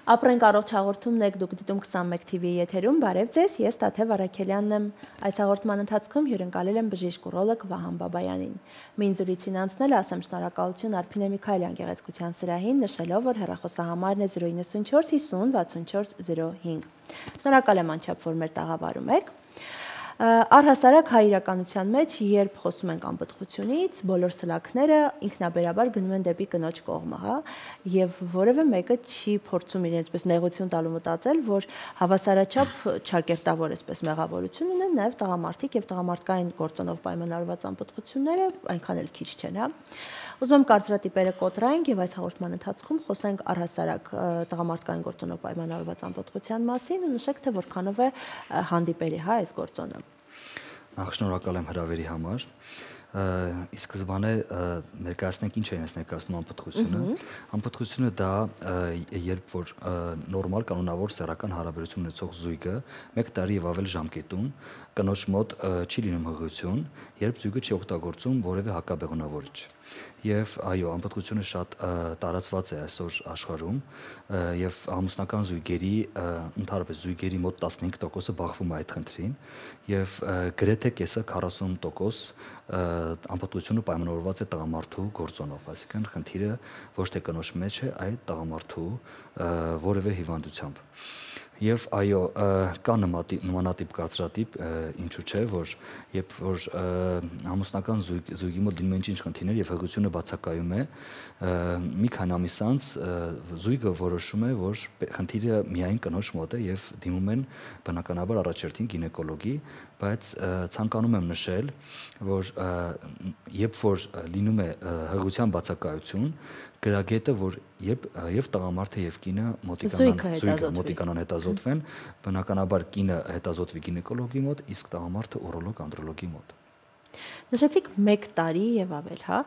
Ապրենք առողջ հաղորդումն եք դուք դիտում 21 TV-ի եթերում, բարև ձեզ, ես Տաթև Արաքելյանն եմ։ Այս հաղորդման ընթացքում հյուրընկալել եմ բժիշկ ուրոլոգ Վահան Բաբայանին։ Մին զրույցին անցնել ասեմ շնորհակալություն Արփինե Միքայելյան գեղեցկության սրահին, նշելով, որ հեռախոսահամարն է 094 50 64 05։ Շնորհակալ եմ անչափ, որ մեր տաղավարում եք։ Առհասարակ հայ իրականության մեջ, երբ խոսում ենք անպտղությունից, բոլոր սլաքները ինքնաբերաբար գնում են դեպի կնոջ կողմը, հա, եւ որևէ մեկը չի փորձում իրեն այսպես նեղություն տալու մտածել, որ հավասարաչափ ճակերտավոր այսպես մեղավորություն ունեն նաեւ տղամարդիկ եւ տղամարդկային գործոնով պայմանավորված անպտղությունները այնքան էլ քիչ չեն, հա։ Ուզում եմ կարծրատիպերը կոտրայինք եւ այս հաղորդման ընթացքում խոսենք առհասարակ տղամարդկային գործոնով պայմանավորված անպտղության մասին ու նշեք, թե որքանով է հանդիպելի, հա, այս գործոնը։ Նախ շնորհակալ եմ հրավերի համար։ Ի սկզբանե ներկայացնենք ինչ է ներկայացնում անպտղությունը։ Անպտղությունը դա երբ որ նորմալ կանոնավոր սեռական հարաբերություն ունեցող զույգը 1 տարի եւ ավել ժամկետում կնոջ մոտ չի լինում հղիություն, երբ զույգը չի օգտագործում որևէ հակաբեղունավորիչ։ Եվ այո, անպտղությունը շատ տարածված է այսօր աշխարհում եւ ամուսնական զույգերի, ընդհանրապես զույգերի մոտ 15%-ը բախվում է այդ խնդրին եւ գրեթե կեսը 40% անպտղությունը պայմանավորված է տղամարդու գործոնով, այսինքն խնդիրը ոչ թե կնոջ մեջ է, այլ տղամարդու որևէ հիվանդությամբ։ Եվ այո, կա նմանատիպ կարծրատիպ, ինչու՞ չէ, որ երբ որ ամուսնական զույգի մոտ լինում են ինչ խնդիրներ եւ հղիությունը բացակայում է, մի քանի ամիս անց զույգը որոշում է, որ խնդիրը միայն կնոջ մոտ է եւ դիմում են բնականաբար առաջերտին գինեկոլոգի, բայց ցանկանում եմ նշել, որ երբ որ լինում է հղիության բացակայություն, գրագետը, որ եւ տղամարդը եւ կինը մոտիկանան հետազոտվեն, բնականաբար կինը հետազոտվի գինեկոլոգի մոտ, իսկ տղամարդը ուրոլոգ անդրոլոգի մոտ։ Նշեցիք 1 տարի եւ ավել, հա։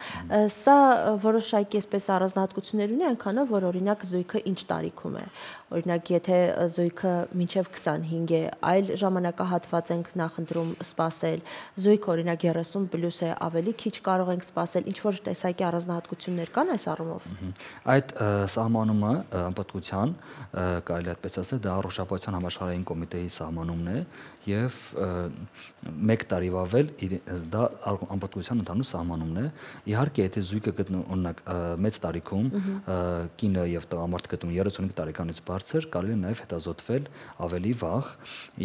Սա որոշակի այսպես առանձնահատկություններ ունի, այնքանով որ օրինակ զույգը ինչ տարիքում է։ Օրինակ, եթե զույգը մինչև 25 է, այլ ժամանակահատված ենք նախընտրում սպասել, զույգը օրինակ 30+ է, ավելի քիչ կարող ենք սպասել, ինչ որ տեսակի առանձնահատկություններ կան այս առումով։ Այդ սահմանումը անպտղության, կարելի է այդպես ասել, դա առողջապահության համաշխարհային կոմիտեի սահմանումն է եւ 1 տարի ավել դա անպտղության ընդհանուր սահմանումն է։ Իհարկե, եթե զույգը գտնվում օրինակ մեծ տարիքում, կինը եւ տղամարդը գտնվում 35 տարեկանից բարձր, կարելի է նաեւ հետազոտվել ավելի վաղ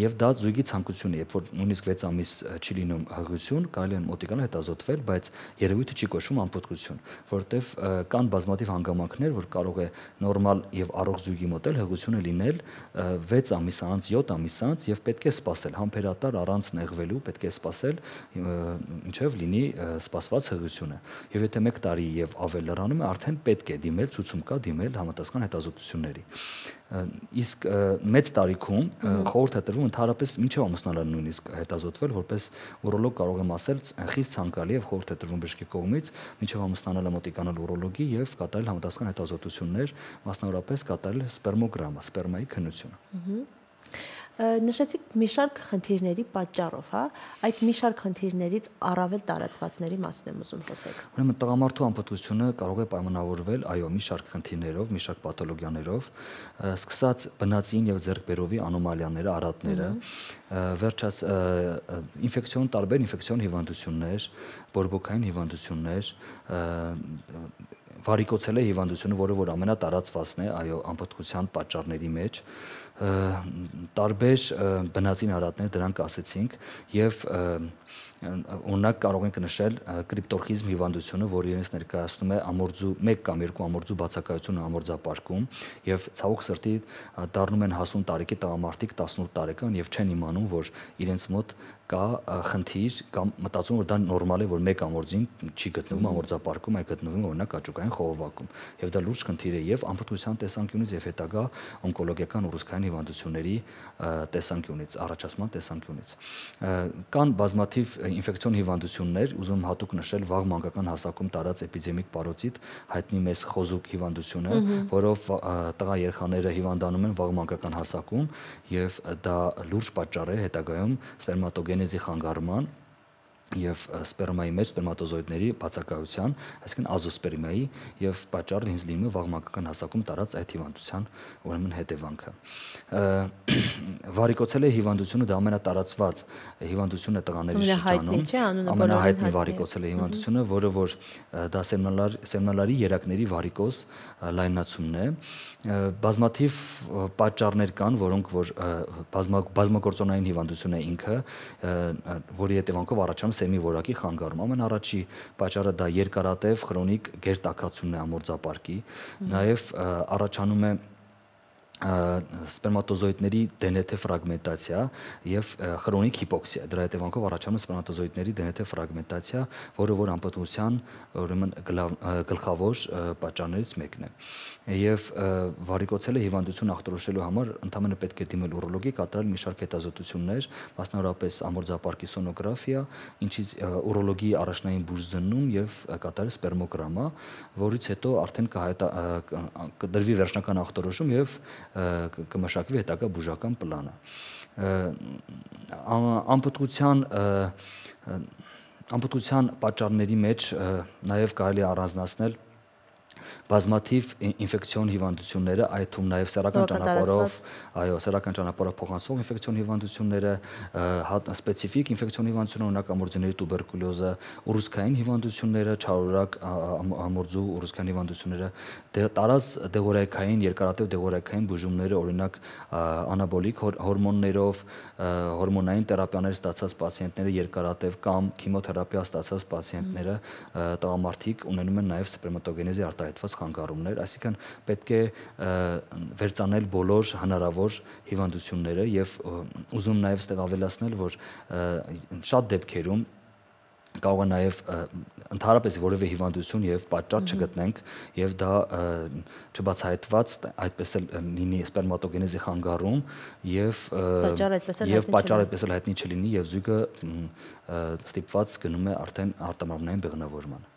եւ դա զույգի ցանկությունն է, երբ որ նույնիսկ 6 ամիս չի լինում հղիություն, կարելի է մոտիկանալ հետազոտվել, բայց երևույթը չի կոչվում անպտղություն, որովհետեւ կան բազմաթիվ հանգամանքներ, որ կարող է նորմալ եւ առողջ զույգի մոտ էլ հղիությունը լինել 6 ամիս անց, 7 ամիս անց եւ պետք է սպասել համբերատար առանց նեղվելու, պետք է սպասել ինչեւ լինի սպասված հղիությունը։ Եվ եթե 1 տարի եւ ավել լրանում է, արդեն պետք է դիմել, ցուցում կա դիմել համապատասխան հետազոտությունների։ Իսկ մեծ տարիքում խորհուրդ է տրվում ընդհանրապես մինչև ամուսնալան նույնիսկ հետազոտվել, որպես ուրոլոգ կարող եմ ասել, խիստ ցանկալի եւ խորհուրդ է տրվում բժշկի կողմից մինչև ամուսնալը մոտիկանալ ուրոլոգի եւ կատարել համապատասխան հետազոտություններ, մասնավորապես կատարել սպերմոգրամը, սպերմայի քննությունը։ Նշեցիք մի շարք խնդիրների պատճառով, հա, այդ մի շարք խնդիրներից առավել տարածվածների մասին եմ ուզում խոսել։ Ուրեմն տղամարդու անպտղությունը կարող է պայմանավորվել, այո, մի շարք խնդիրներով, մի շարք պաթոլոգիաներով, սկսած բնածին եւ ձեռքբերովի անոմալիաները, արատները, վերջած տարբեր ինֆեկցիոն հիվանդություններ, բորբոքային հիվանդություններ, վարիկոցելե հիվանդությունը, որը որ ամենատարածվածն է, այո, անպտղության պատճառների մեջ, տարբեր բնածին արատներ, դրանք ասեցինք, եւ օրինակ կարող ենք նշել կրիպտորխիզմ հիվանդությունը, որը իրենից ներկայացնում է ամորձու 1 կամ 2 ամորձու բացակայությունը ամորձապարկում եւ ցավոք սրտի դառնում են հասուն տարիքի տղամարդիկ 18 տարեկան եւ չեն իմանում, որ իրենց մոտ կա խնդիր կամ մտածում որ դա նորմալ է, որ 1 ամորձին չի գտնվում ամորձապարկում, այլ գտնվում օրինակ աճուկային խողովակում եւ դա լուրջ խնդիր է եւ անպտղության տեսանկյունից եւ հետագա օնկոլոգիական ուռուցքային հիվանդությունների տեսանկյունից, առաջացման տեսանկյունից։ Կան բազմաթիվ ինֆեկցիոն հիվանդություններ, ուզում հատուկ նշել վաղ մանկական հասակում տարած էպիդեմիկ պարոցիտ, հայտնի մեզ խոզուկ հիվանդությունը, որով տղա երեխաները հիվանդանում են վաղ մանկական հասակում եւ դա լուրջ պատճառ է հետագայում սպերմատոգենեզի խանգարման եւ սպերմայի մեջ սպերմատոզոիդների բացակայության, այսինքն ազոսպերմիայի եւ պատճառը ինձ լինում է վաղ մանկական հասակում տարած այդ հիվանդության ուրեմն հետևանքը։ Վարիկոցելե հիվանդությունը դա ամենատարածված հիվանդությունն է տղաների շրջանում, ամենահայտնի վարիկոցելե հիվանդությունը, որը որ դա սերմնալարի երակների վարիկոզ լայնացումն է։ Բազմաթիվ պատճառներ կան, որոնք որ բազմագործոնային հիվանդություն է ինքը, որի հետևանքով առաջանում սերմի որակի խանգարում։ Ամենառաջի պատճառը դա երկարատև քրոնիկ գերտաքացումն է ամորձապարկի, նաև առաջանում է սպերմատոզոիդների DNT ֆրագմենտացիա եւ քրոնիկ հիպոքսիա։ Դրա հետևանքով առաջանում սպերմատոզոիդների DNT ֆրագմենտացիա, որը որ անպտղության ուրեմն գլխավոր պատճառներից մեկն է։ Եվ վարիկոցելե հիվանդություն ախտորոշելու համար ընդհանրապես պետք է դիմել ուրոլոգի, կատարել մի շարք հետազոտություններ, մասնավորապես ամորձապարկի սոնոգրաֆիա, ինչից ուրոլոգի առաջնային բուժզննում եւ կատարել սպերմոգրամա, որից հետո արդեն կդրվի վերջնական ախտորոշում եւ կմշակվի հետագա բուժական պլանը։ Անպտղության պատճառների մեջ նաև կարելի է առանձնացնել բազմաթիվ ինֆեկցիոն հիվանդությունները, այդ թվում նաև սեռական ճանապարհով փոխանցվող ինֆեկցիոն հիվանդությունները, սպეციფიկ ինֆեկցիոն հիվանդություններ, օրինակ ամորձիների տուբերկուլյոզը, ուռուցքային հիվանդությունները, չարորակ ամորձու ուռուցքային հիվանդությունները, տարած դեղորայքային, երկարատև դեղորայքային բուժումները, օրինակ անաբոլիկ հորմոններով, հորմոնային թերապիաներ ստացած պացիենտները, երկարատև կամ քիմիոթերապիա ստացած պացիենտները, տղամարդիկ ունենում են նաև սպերմատոգենեզի արտահայտված խանգարումներ, այսինքն պետք է վերծանել բոլոր հնարավոր հիվանդությունները եւ ուզում նաև ստեղ ավելացնել, որ շատ դեպքերում կարող է նաև ընդհանրապես որևէ հիվանդություն եւ պատճառ չգտնենք եւ դա չբացահայտված այդպես էլ լինի սպերմատոգենեզի խանգարում եւ պատճառը այդպես էլ հայտնի չլինի եւ զույգը ստիպված գնում է արդեն արտամարմնային բեղմնավորման։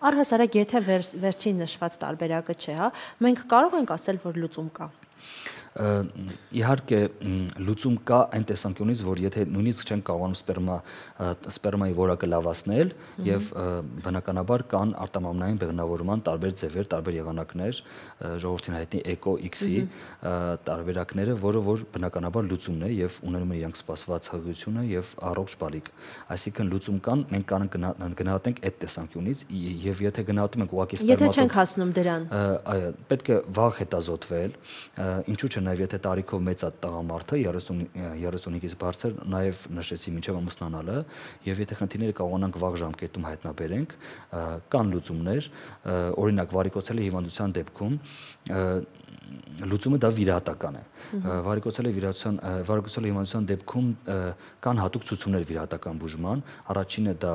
Առհասարակ եթե վերջին նշված տարբերակը չէ, հա, մենք կարող ենք ասել, որ լուծում կա։ Իհարկե լուծում կա այն տեսանկյունից, որ եթե նույնիսկ չեն կարողանում սպերմայի որակը լավացնել եւ բնականաբար կան արտամամնային բեղմնավորման տարբեր ձևեր, տարբեր եղանակներ, ժողովրդին հայտնի ECO-X-ի տարբերակները, որը որ բնականաբար լուծումն է եւ ունենում են իրենք սպասված հղիությունը եւ առողջ բալիկ։ Այսինքն լուծում կան, մենք կարող գնահատենք այդ տեսանկյունից եւ եթե գնահատում ենք ուղղակի սպերմատոզոիդը, եթե չենք հասնում դրան, այո, պետք է վաղ հետազոտվել, ինչու՞ չէ նաև եթե տարիքով մեծ է տղամարդը 35-ից բարձր, նաև նշեցի մինչև ամուսնանալը, եւ եթե խնդիրները կարողանանք վաղ ժամկետում հայտնաբերենք, կան լուծումներ, օրինակ վարիկոցելե հիվանդության դեպքում լուծումը դա վիրահատական է։ Վարիկոցելե հիվանդության դեպքում կան հատուկ ցուցումներ վիրահատական բուժման, առաջինը դա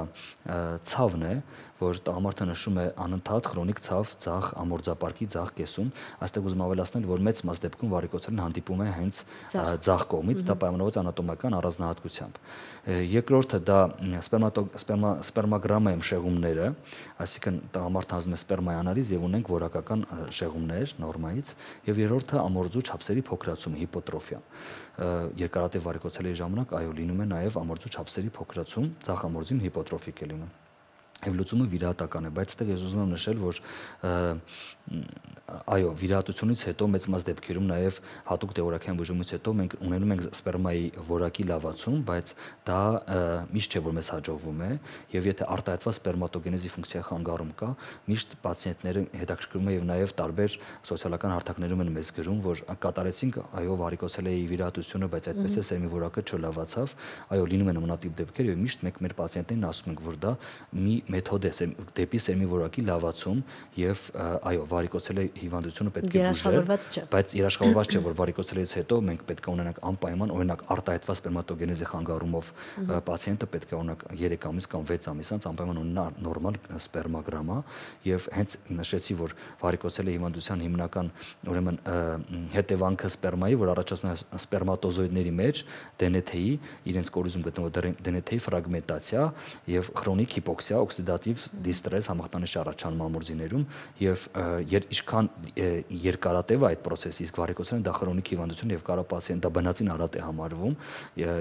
ցավն է, որ տղամարդը նշում է անընդհատ քրոնիկ ցավ ցախ ամորձապարկի ցախ կեսում, այստեղ ուզում ավելացնել, որ մեծ մաս դեպքում վարիկոցելեն հանդիպում է հենց ցախ կողմից, դա պայմանավորված անատոմիական առանձնահատկությամբ։ Երկրորդը դա սպերմոգրամայում շեղումները, այսինքն տղամարդը հանձնում է սպերմայի անալիզ եւ ունենք որակական շեղումներ նորմայից, եւ երրորդը ամորձու չափսերի փոքրացումը, հիպոտրոֆիա։ Երկարատև վարիկոցելեի ժամանակ այո լինում է նաեւ ամորձու չափսերի փոքրացում, ցախ ամորձին հիպոտրոֆիկ է լինում։ Եվ լուծումը վիրահատական է, բայց այստեղ ես ուզում եմ նշել, որ այո, վիրահատությունից հետո մեծ մաս դեպքերում նաև հատուկ դեղորայքային բուժումից հետո մենք ունենում ենք սպերմայի որակի լավացում, բայց դա միշտ չէ, որ մեզ հաջողվում է, եւ եթե արտահայտված սպերմատոգենեզի ֆունկցիայի խանգարում կա, միշտ պացիենտները հետաքրքրում է եւ նաև տարբեր սոցիալական հարթակներում են մեզ գրում, որ կատարեցինք այո վարիկոցելեի վիրահատությունը, բայց այդպես է սերմի որակը չլավացավ, այո լինում են նմանատիպ դեպքեր եւ միշտ մենք մեր պացիենտներին ասում ենք, որ դա մի մեթոդ է դեպի սերմի որակի լավացում եւ այո վարիկոցելե հիվանդությունը պետք է բուժել, բայց երաշխավորված չէ, որ վարիկոցելեից հետո մենք պետք է ունենանք անպայման օրինակ արտահայտված սպերմատոգենեզի խանգարումով պացիենտը պետք է ունենա 3 ամիս կամ 6 ամիս անց անպայման ունենա նորմալ սպերմոգրամա եւ հենց նշեցի, որ վարիկոցելե հիվանդության հիմնական ուրեմն հետևանքը սպերմայի, որ առաջացնում է սպերմատոզոիդների մեջ DNT-ի իրենց կորիզում գտնվող DNT-ի ֆրագմենտացիա եւ քրոնիկ հիպոքսիա, օքսիդատիվ դիստրես համախտանիշ առաջանում ամորձիներում եւ ինչքան երկարատև է այդ process-ը, իսկ վարիկոցելին դա քրոնիկ հիվանդություն եւ կարա պացիենտը բնածին արատ է համարվում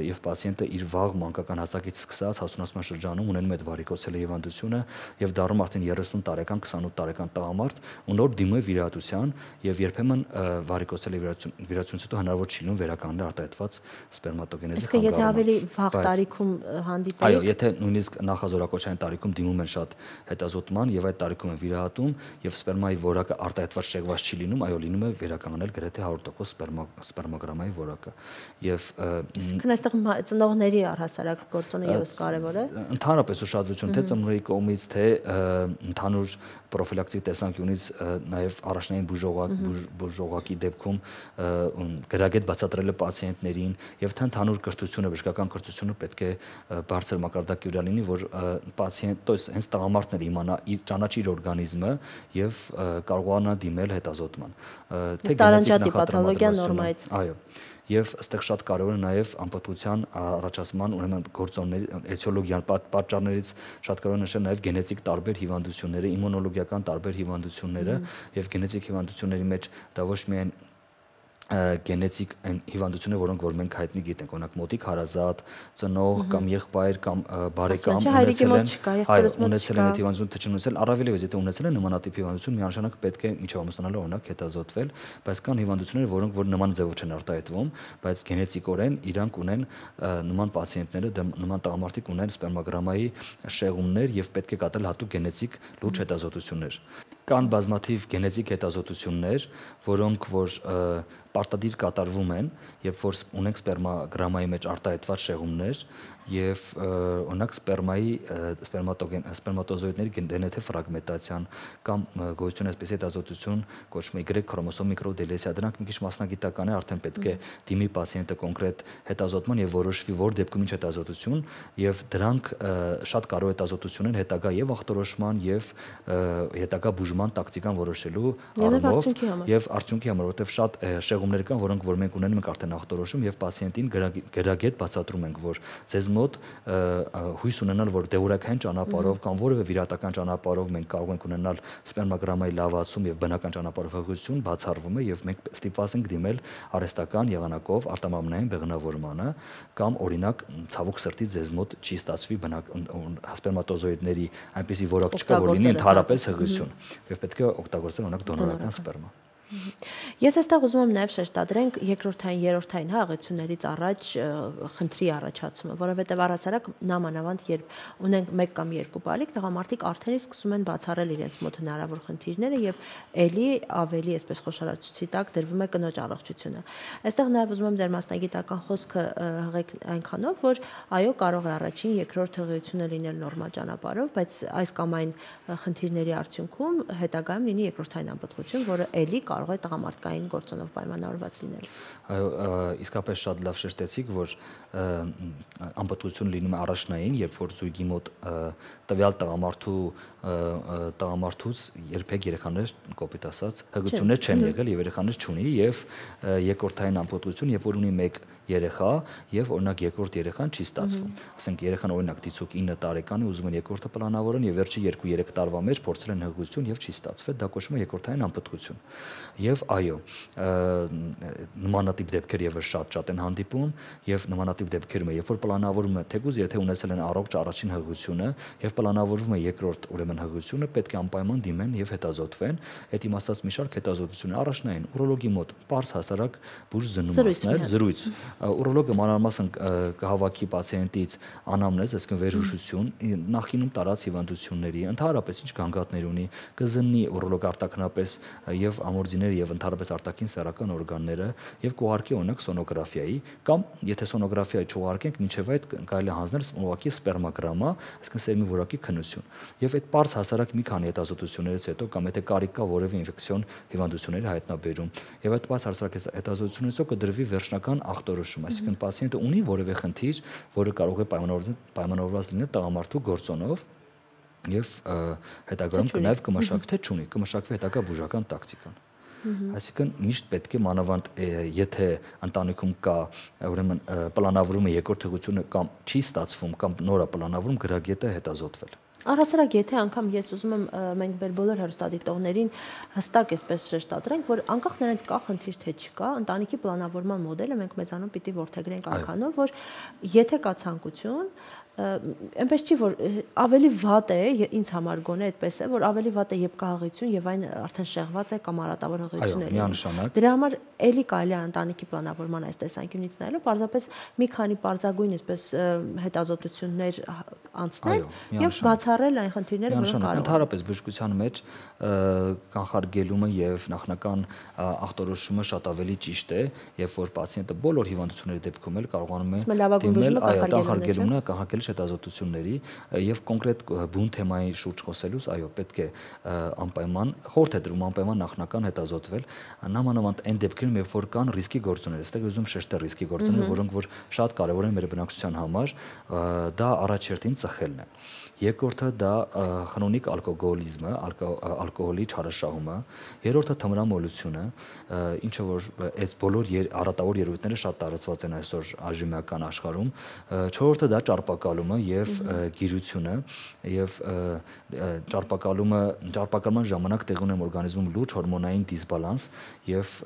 եւ պացիենտը իր վաղ մանկական հասակից սկսած հասունացման շրջանում ունենում է այդ վարիկոցելի հիվանդությունը եւ դառնում արդեն 30 տարեկան, 28 տարեկան տղամարդ ու նոր դիմում է վիրահատության եւ երբեմն վարիկոցելի վիրահատությունից հետո հնարավոր չի լինում վերականգնել արտահայտված սպերմատոգենեզի խանգարումը։ Իսկ եթե ավելի վաղ տարիքում հանդիպեք։ Այո, եթե նույնիսկ նախազորակոչային տարիքում դիմում են շատ հետազոտման եւ այդ տարիքում են վիրահատում եւ սպերմայի որակը արտահայտված շեղված չի լինում, այո, լինում է վերականգնել գրեթե 100% սպերմոգրամայի որակը։ Եվ Իսկ այստեղ ծնողների առհասարակ գործոնը եւս կարեւոր է։ Ընդհանրապես ուշադրություն թե ծնողների կողմից, թե ընդհանուր պրոֆիլակտիկ տեսանկյունից նաև առաջնային բուժողակի դեպքում գրագետ բացատրելը պացիենտներին եւ թե ընդհանուր կրթությունը, բժշկական կրթությունը պետք է բարձր մակարդակի վրա լինի, որ պացիենտ, ըստ հենց տղամարդն իմանա ճանաչի իր օրգանիզմը եւ կարողանա դիմել հետազոտման։ Թե տարանջատի պաթոլոգիա նորմայից։ Այո։ Եվ այստեղ շատ կարևոր է նաև անպատվության առաջացման ուրեմն գործոնների էթիոլոգիան պատճառներից շատ կարևոր է նշել նաև գենետիկ տարբեր հիվանդությունները, իմունոլոգիական տարբեր հիվանդությունները եւ գենետիկ հիվանդությունների մեջ դա ոչ միայն գենետիկ այն հիվանդությունները, որոնք որ մենք հայտնի գիտենք, օրինակ մոտիկ հարազատ, ծնող կամ եղբայր կամ բարեկամ ունեցել են այդ հիվանդությունը, թե չունեցել, առավելևս եթե ունեցել են նմանատիպ հիվանդություն, միանշանակ պետք է միջով ամուսնանալը օրինակ հետազոտվել, բայց կան հիվանդություններ, որոնք որ նման ձևով չեն արտահայտվում, բայց գենետիկորեն իրանք ունեն նման պացիենտները, նման տղամարդիկ ունեն սպերմոգրամայի շեղումներ եւ պետք է կատարել հատուկ գենետիկ լուրջ հետազոտություններ։ Կան բազմաթիվ գենետիկ հետազոտություններ, որոնք որ պարտադիր կատարվում են, երբ որ ունենք սպերմոգրամայի մեջ արտահայտված շեղումներ եւ օրինակ սպերմատոզոիդների գենետիկ ֆրագմենտացիան կամ գոյություն այսպես հետազոտություն կոչվում է Y քրոմոսոմ միկրոդելեսիա, դրանք մի քիչ մասնագիտական է, արդեն պետք է դիմի պացիենտը կոնկրետ հետազոտման եւ որոշվի որ դեպքում ինչ հետազոտություն եւ դրանք շատ կարևոր հետազոտություն են հետագա եւ ախտորոշման եւ հետագա բուժման տակտիկան որոշելու առումով եւ արդյունքի համար, որովհետեւ շատ շեղումներ կան, որոնք որ մենք ունենում ենք արդեն ախտորոշում եւ պացիենտին գրագետ բացատրում ենք, որ ձեզ մոտ հույս ունենալ, որ դեորակային ճանապարհով կամ որևէ վիրահատական ճանապարհով մենք կարող ենք ունենալ սպերմոգրամայի լավացում եւ բնական ճանապարհով հղիություն բացառվում է եւ մենք ստիպված ենք դիմել արհեստական եղանակով արտամամնային բեղնավորմանը կամ օրինակ ցավոք սրտի ձեզ մոտ չի ստացվի սպերմատոզոիդների այնպիսի որակ չկա, որ լինի ընդհանրապես հղիություն եւ պետք է օգտագործել օրինակ դոնորական սպերմա։ Ես այստեղ ուզում եմ նաև շեշտադրենք երկրորդային, երրորդային հաղորդություններից առաջ խնդրի առաջացումը, որովհետև առհասարակ նամանավանդ երբ ունենք 1 կամ 2 բալիկ, տղամարդիկ արդեն իսկ սկսում են բացառել իրենց մոտ հնարավոր խնդիրները եւ ելի ավելի այսպես խոշորացուցի տակ դրվում է կնոջ առողջությունը։ Այստեղ նաև ուզում եմ ձեր մասնագիտական խոսքը հղեք այնքանով, որ այո, կարող է առաջին, երկրորդ հղիությունը լինել նորմալ ճանապարհով, բայց այս կամ այն խնդիրների արդյունքում հետագայում լինի երկրորդային անպտղություն, որը ելի կարող է տղամարդկային գործոնով պայմանավորված լինել։ Այո, իսկապես շատ լավ շեշտեցիք, որ անպտղություն լինում է առաջնային, երբ որ զույգի մոտ տվյալ տղամարդուց երբեք երեխաներ կոպիտ ասած հղիություններ չեն եղել եւ երեխաներ չունի եւ երկրորդային անպտղություն, երբ որ ունի 1 երեխա եւ օրինակ երկրորդ երեխան չի ստացվում։ Ասենք երեխան օրինակ դիցուկ 9 տարեկան է, ուզում են երկրորդը պլանավորեն եւ վերջի 2-3 տարվա մեջ փորձել են հղիություն եւ չի ստացվել, դա կոչվում է երկրորդային անպտղություն։ Եվ այո, նմանատիպ դեպքեր եւս շատ են հանդիպում եւ նմանատիպ դեպքերում երբ որ պլանավորում է թեկուզ եթե ունեցել են առողջ առաջին հղիությունը եւ պլանավորվում է երկրորդ ուրեմն հղիությունը, պետք է անպայման դիմեն եւ հետազոտվեն։ Այդ իմաստած մի շարք հետազոտություններ առաջնային ուրոլոգի մոտ պարզ հասարակ բուժ զննումներ, զրույց Ուրոլոգը մանրամասն կհավաքի պացիենտից անամնեզ, այսինքն վերհուշություն, նախկինում տարած հիվանդությունների, ընդհանրապես ինչ գանգատներ ունի, կզննի ուրոլոգ արտաքնապես եւ ամորձիները եւ ընդհանրապես արտաքին սեռական օրգանները եւ կուղարկի օրինակ սոնոգրաֆիայի կամ եթե սոնոգրաֆիայի չուղարկենք, մինչեւ այդ կարելի է հանձնել ուղղակի սպերմոգրամա, այսինքն սերմի որակի քննություն։ Եվ այդ պարզ հասարակ մի քանի հետազոտություններից հետո կամ եթե կարիք կա որևէ ինֆեկցիոն հիվանդությունների հայտնաբերում եւ այդ պարզ հասարակ հետազոտությունից հետո կդրվի վերջնական ախտորոշում, այսինքն պացիենտը ունի որևէ խնդիր, որը կարող է պայմանավորված լինել տղամարդու գործոնով եւ հետագայում կնայվ կմշակվի թե չունի, կմշակվի հետագա բուժական տակտիկան։ Այսինքն միշտ պետք է մանավանդ եթե ընտանիքում կա ուրեմն պլանավորում է երկրորդ հղիությունը կամ չի ստացվում կամ նոր է պլանավորում գրագետը հետազոտվել։ Առհասարակ, եթե անգամ ես ուզում եմ մենք մեր բոլոր հեռուստադիտողներին հստակ այսպես շեշտադրենք, որ անկախ նրանից կա խնդիր թե չկա, ընտանիքի պլանավորման մոդելը մենք մեզանում պիտի որդեգրենք այնքանով, որ եթե կա ցանկություն, այնպես չի որ ավելի վատ է ինձ համար գոնե այդպես է որ ավելի վատ է երբ կա հղիություն եւ այն արդեն շեղված է կամ արատավոր հղիություններ դրա համար էլի կարելի է ընտանիքի պլանավորման այս տեսանկյունից նայելով պարզապես մի քանի պարզագույն այսպես հետազոտություններ անցնել եւ բացառել այն խնդիրները որոնք կարող են ընդհանրապես բժշկության մեջ կանխարգելումը եւ նախնական ախտորոշումը շատ ավելի ճիշտ է երբ որ պացիենտը բոլոր հիվանդությունների դեպքում էլ կարողանում է դիմել կանխարգելումն կանխարգել հետազոտությունների եւ կոնկրետ բուն թեմայի շուրջ խոսելուց այո պետք է անպայման խորհուրդ է տրվում անպայման նախնական հետազոտվել նամանավանդ այն դեպքերում երբ որ կան ռիսկի գործոններ այստեղ ուզում շեշտել ռիսկի գործոններ որոնք որ շատ կարեւոր են մեր բնակչության համար դա առաջերտին ծխելն է երկրորդը դա խնոնիկ ալկոգոլիզմը ալկոհոլի չարաշահումը երրորդը թմրամոլությունը ինչը որ այս բոլոր արատավոր երևույթները շատ տարածված են այսօր այժմյան աշխարհում չորրորդը դա ճարպակալումը եւ գիրությունը եւ ճարպակալման ժամանակ տեղի ունեն օրգանիզմում լուրջ հորմոնային դիսբալանս եւ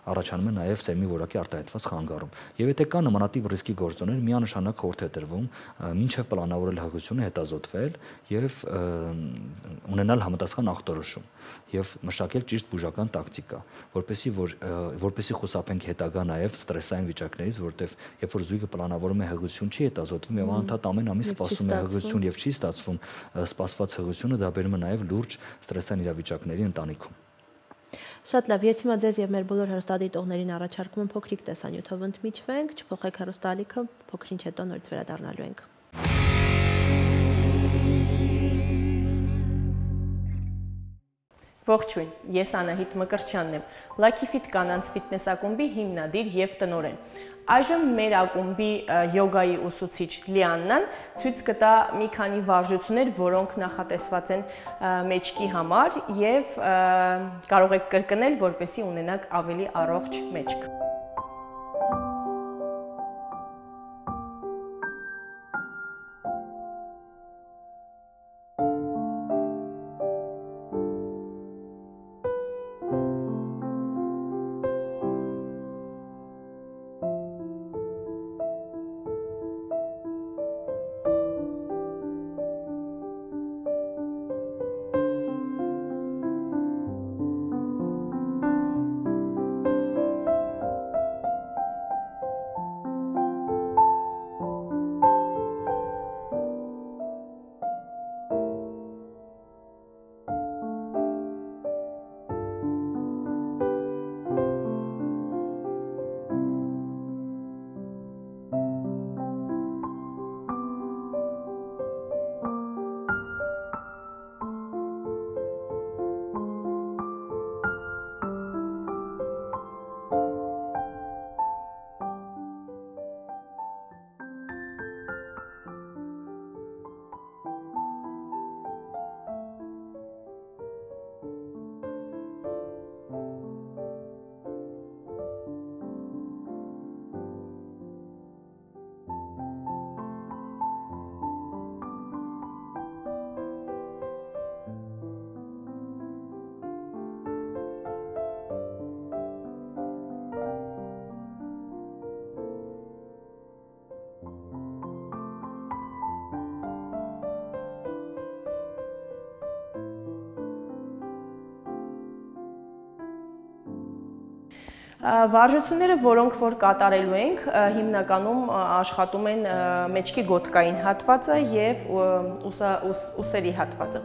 առաջանում է նաեւ սերմի որակի արտահայտված խանգարում եւ եթե կա նմանատիպ ռիսկի գործոններ միանշանակ խորհուրդ է տրվում մինչեւ պլանավորել հղիությունը հետազոտվել եւ ունենալ համապատասխան ախտորոշում եւ մշակել ճիշտ բուժական տակտիկա որպեսզի խուսափենք հետագա նաեւ ստրեսային վիճակներից որտեւ երբ որ զույգը պլանավորում է հղիություն չի հետազոտվում եւ անընդհատ ամեն ամիս սպասում է հղիություն եւ չի ստացվում սպասված հղիությունը դա բերում է նաեւ լուրջ ստրեսային իրավիճակների ընտանիքում Շատ լավ, ես հիմա ձեզ եւ մեր բոլոր հեռուստադիտողներին առաջարկում եմ փոքրիկ տեսանյութով ընդմիջվենք, չփոխեք հեռուստալիքը, փոքրինչ հետո նորից վերադառնալու ենք։ Ողջույն, ես Անահիտ Մկրտչյանն եմ, Lucky Fit կանանց ֆիթնես ակումբի հիմնադիր եւ տնօրեն։ Այժմ մեր ակումբի յոգայի ուսուցիչ Լիաննան ցույց կտա մի քանի վարժություններ, որոնք նախատեսված են մեջքի համար եւ կարող եք կրկնել, որպեսզի ունենաք ավելի առողջ մեջք։ Վարժությունները, որոնք որ կատարելու ենք, հիմնականում աշխատում են մեջքի գոտկային հատվածը եւ ուսերի հատվածը։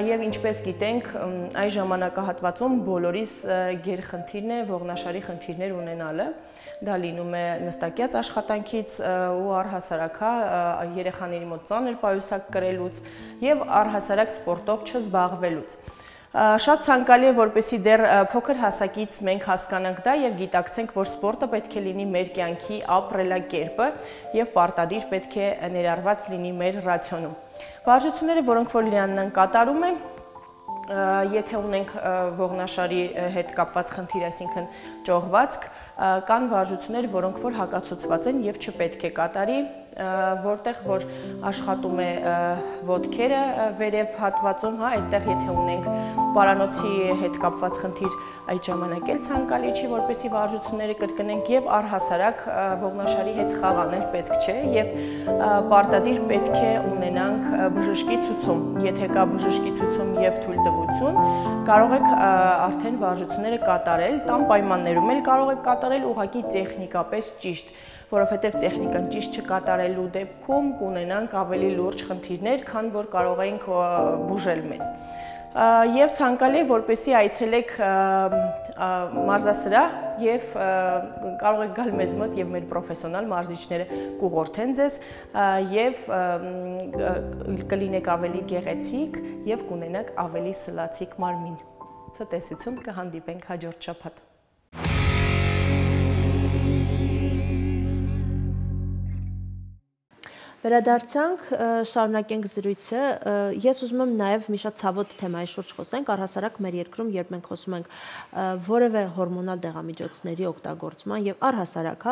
Եվ ինչպես գիտենք, այս ժամանակահատվածում բոլորիս գերխնդիրն է ողնաշարի խնդիրներ ունենալը։ Դա լինում է նստակյաց աշխատանքից ու առհասարակ երեխաների մոտ ծանր պայուսակ կրելուց եւ առհասարակ սպորտով չզբաղվելուց։ Շատ ցանկալի է, որպեսզի դեռ փոքր հասակից մենք հասկանանք դա եւ գիտակցենք, որ սպորտը պետք է լինի մեր կյանքի ապրելակերպը եւ պարտադիր պետք է ներառված լինի մեր ռացիոնում։ Վարժությունները, որոնք որ Լիաննան կատարում է, եթե ունենք ողնաշարի հետ կապված խնդիր, այսինքն ճողվածք, կան վարժություններ, որոնք որ հակացուցված են եւ չպետք է կատարի որտեղ որ աշխատում է ոտքերը վերև հատվածում, հա, այդտեղ եթե ունենք պարանոցի հետ կապված խնդիր, այդ ժամանակ էլ ցանկալի չի, որպեսզի վարժությունները կրկնենք եւ առհասարակ ողնաշարի հետ խաղ անել պետք չէ եւ պարտադիր պետք է ունենանք բժշկի ցուցում։ Եթե կա բժշկի ցուցում եւ թույլտվություն, կարող եք արդեն վարժությունները կատարել, տան պայմաններում էլ կարող եք կատարել ուղղակի տեխնիկապես ճիշտ, որովհետեւ տեխնիկան ճիշտ չկատարելու դեպքում կունենանք ավելի լուրջ խնդիրներ, քան որ կարող ենք բուժել մեզ։ Եվ ցանկալի է, որպեսզի այցելեք մարզասրահ եւ կարող եք գալ մեզ մոտ եւ մեր պրոֆեսիոնալ մարզիչները կուղղորդեն ձեզ եւ կլինեք ավելի գեղեցիկ եւ կունենաք ավելի սլացիկ մարմին։ Ցտեսություն, կհանդիպենք հաջորդ շաբաթ։ Վերադարձանք, շարունակենք զրույցը, ես ուզում եմ նաև մի շատ ցավոտ թեմայի շուրջ խոսենք, առհասարակ մեր երկրում, երբ մենք խոսում ենք որևէ հորմոնալ դեղամիջոցների օգտագործման եւ առհասարակ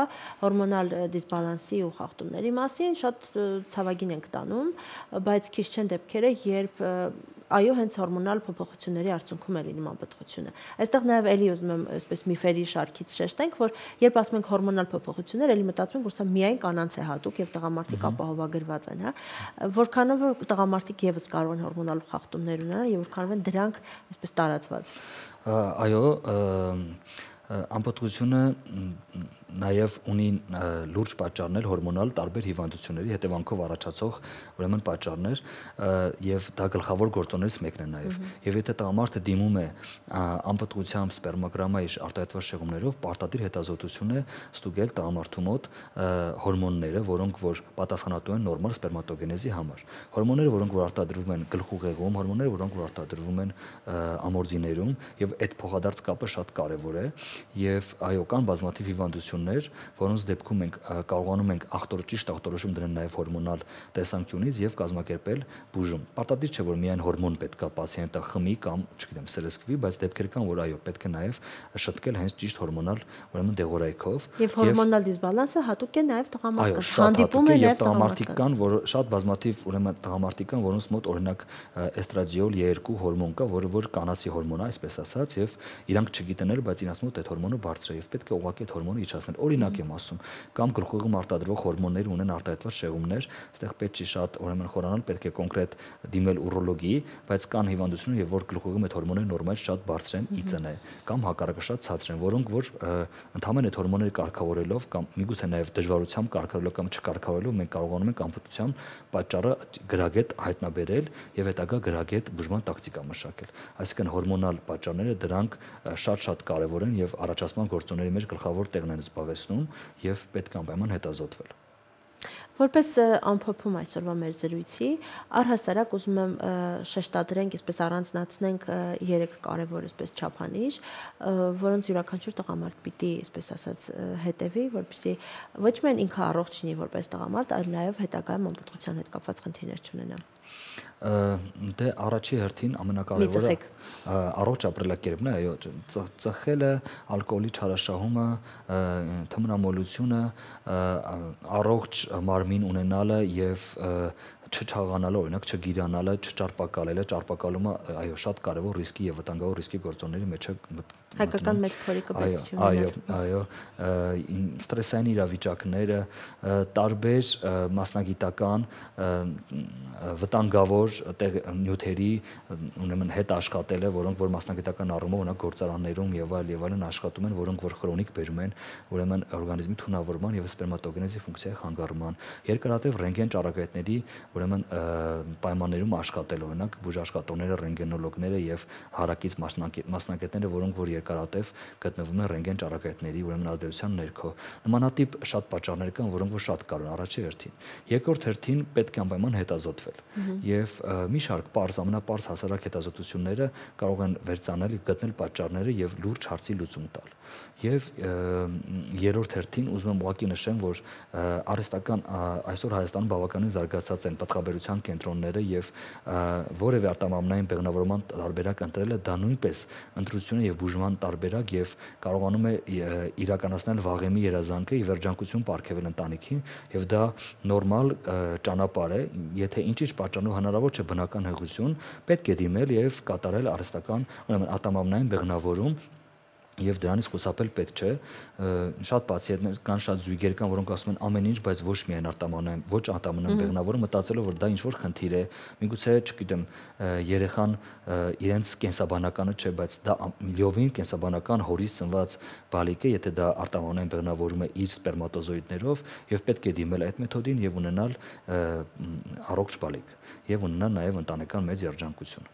հորմոնալ դիսբալանսի ու խախտումների մասին, շատ ցավագին ենք տանում, բայց քիչ չեն դեպքերը, երբ այո, հենց հորմոնալ փոփոխությունների արդյունքում է լինում անպտղությունը։ Այստեղ նաև էլի ուզում եմ այսպես միֆերի շարքից շեշտենք, որ երբ ասում ենք հորմոնալ փոփոխություններ, էլի մտածում ենք, որ սա միայն կանանց է հատուկ եւ տղամարդիկ ապահովագրված են, հա։ Որքանով որ տղամարդիկ եւս կարող են հորմոնալ խախտումներ ունենալ եւ որքանով են դրանք այսպես տարածված։ Այո, անպտղությունը նաև ունի լուրջ պատճառներ հորմոնալ տարբեր հիվանդությունների հետևանքով առաջացող ուրեմն պատճառներ եւ դա գլխավոր գործոններից մեկն է նաև եւ եթե տղամարդը դիմում է անպտղությամբ սպերմոգրամայի արտահայտված շեղումներով պարտադիր հետազոտություն է ստուգել տղամարդու մոտ հորմոնները, որոնք որ պատասխանատու են նորմալ սպերմատոգենեզի համար։ Հորմոնները, որոնք որ արտադրվում են գլխուղեղում, հորմոնները, որոնք որ արտադրվում են ամորձիներում եւ այդ փոխադարձ կապը շատ կարեւոր է եւ այո կան բազմաթիվ հիվանդություններ, որոնց դեպքում մենք կարողանում ենք ճիշտ ախտորոշում դնել նաև հորմոնալ տեսանկյունից եւ կազմակերպել բուժում։ Պարտադիր չէ, որ միայն հորմոն պետք է պացիենտը խմի կամ, չգիտեմ, սրսկվի, բայց դեպքեր կան, որ այո, պետք է նաև շտկել հենց ճիշտ հորմոնալ ուրեմն դեղորայքով։ Եւ հորմոնալ դիսբալանսը հատուկ է նաև տղամարդկանց։ Հանդիպում է նաև տղամարդիկ կան, որ շատ բազմաթիվ ուրեմն տղամարդիկ կան, որոնց մոտ օրինակ էստրադիոլ E2 հորմոն կա, որը որ կանացի հորմոն է, այսպես ասած, եւ իրանք չգիտեն էլ, բայց իրաց մոտ այդ հորմոնը բարձր է եւ պետք է ուղղակի այդ հորմոնը իջեցնել։ Օրինակ եմ ասում, կամ գլխուղեղում արտադրվող հորմոններ ունեն արտահայտված շեղումներ, այստեղ պետք չի շատ ուրեմն խորանալ, պետք է կոնկրետ դիմել ուրոլոգի, բայց կան հիվանդություններ, եւ որ գլխուղեղում այդ հորմոնները նորմալ շատ բարձր են, իծն է, կամ հակառակը շատ ցածր են, որոնք որ ընդհանրապես այդ հորմոնները կարգավորելով կամ միգուցե նաեւ դժվարությամբ կարգավորելով կամ չկարգավորելով մենք կարողանում ենք անպտղության պատճառը գրագետ հայտնաբերել եւ հետագա գրագետ բուժման տակտիկա մշակել։ Այսինքն հորմոնալ պատճառները դրանք շատ կարեւոր են եւ առաջացման գործոնների մեջ գլխավոր տեղն են զբաղեցնում եւ պետք է անպայման հետազոտվել։ Որպես ամփոփում այսօրվա մեր զրույցի, առհասարակ ուզում եմ շեշտադրենք, այսպես առանձնացնենք 3 կարևոր այսպես չափանիշ, որոնց յուրաքանչյուր տղամարդ պիտի, այսպես ասած, հետևի, որպեսզի ոչ միայն ինքը առողջ լինի որպես տղամարդ, այլ նաև հետագայում անպտղության հետ կապված խնդիրներ չունենա։ Դե առաջի հերթին ամենակարևորը առողջ ապրելակերպն է, այո, ծխելը, ալկոհոլի չարաշահումը, թմրամոլությունը, առողջ մարմին ունենալը եւ չչաղանալը, օրինակ չգիրանալը, չճարպակալելը, ճարպակալումը այո շատ կարևոր ռիսկի եւ վտանգավոր ռիսկի գործոնների մեջ է հայկական մեծ փորիկը պետք չի ունենալ։ Այո, ստրեսային իրավիճակները, տարբեր մասնագիտական վտանգավոր նյութերի ուրեմն հետ աշխատելը, որոնք որ մասնագիտական առումով օրինակ գործարաններում եւ այլն աշխատում են, որոնք որ քրոնիկ բերում են ուրեմն օրգանիզմի թունավորման եւ սպերմատոգենեզի ֆունկցիայի խանգարման, երկարատև ռենտգեն ճառագայթների ուրեմն պայմաններում աշխատել, օրինակ բուժաշխատողները, ռենտգենոլոգները եւ հարակից մասնագետները, որոնք որ երկարատև գտնվում են ռենտգեն ճառագայթների ուրեմն ազդեցության ներքո։ Նմանատիպ շատ պատճառներ կան, որոնք որ շատ կարևոր առաջի հերթին։ Երկրորդ հերթին պետք է անպայման հետազոտվել։ Եվ մի շարք պարզ, ամենապարզ հասարակ հետազոտությունները կարող են վերցանել, գտնել պատճառները եւ լուրջ հարցի լուծում տալ։ եւ երրորդ հերթին ուզում եմ ուղղակի նշեմ, որ արհեստական այսօր Հայաստանում բավականին զարգացած են պատխաբերության կենտրոնները եւ որևէ արտամամնային բեղմնավորման տարբերակ ընտրելը դա նույնպես ընտրությունը եւ բուժման տարբերակ եւ կարողանում է իրականացնել վաղեմի երազանքը եւ երջանկություն պարգևել ընտանիքին եւ դա նորմալ ճանապարհ է, եթե ինչ-ինչ պատճառով հնարավոր չէ բնական հեղություն, պետք է դիմել եւ կատարել արհեստական, ուրեմն ատամամնային բեղմնավորում եւ դրանից խուսափել պետք չէ շատ պացիենտներ կան, շատ զույգեր կան, որոնք ասում են ամեն ինչ, բայց ոչ միայն արտամամնային, ոչ արտամամնային բեղմնավորում, մտածելով որ դա ինչ որ խնդիր է, միգուցե, չգիտեմ, երեխան իրենց կենսաբանականը չէ, բայց դա միլիովին կենսաբանական հորից ծնված բալիկ է, եթե դա արտամամնային բեղմնավորում է իր սպերմատոզոիդներով եւ պետք է դիմել այդ մեթոդին եւ ունենալ առողջ բալիկ եւ ունենալ նաեւ ընտանեկան մեծ երջանկություն։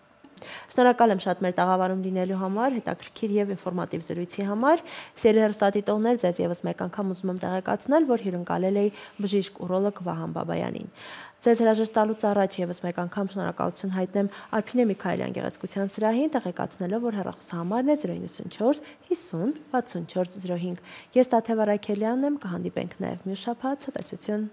Շնորհակալ եմ շատ մեր տաղավարում լինելու համար, հետաքրքիր եւ ինֆորմատիվ զրույցի համար։ Սիրելի հեռուստադիտողներ, ձեզ եւս մեկ անգամ ուզում եմ տեղեկացնել, որ հյուրընկալել էի բժիշկ ուրոլոգ Վահան Բաբայանին։ Ձեզ հրաժեշտ տալուց առաջ եւս մեկ անգամ շնորհակալություն հայտնեմ Արփինե Միքայելյան գեղեցկության սրահին, տեղեկացնելով, որ հեռախոսահամարն է 094 50 64 05։ Ես Տաթև Արաքելյանն եմ, կհանդիպենք նաեւ մյուս շաբաթ, ցտեսություն։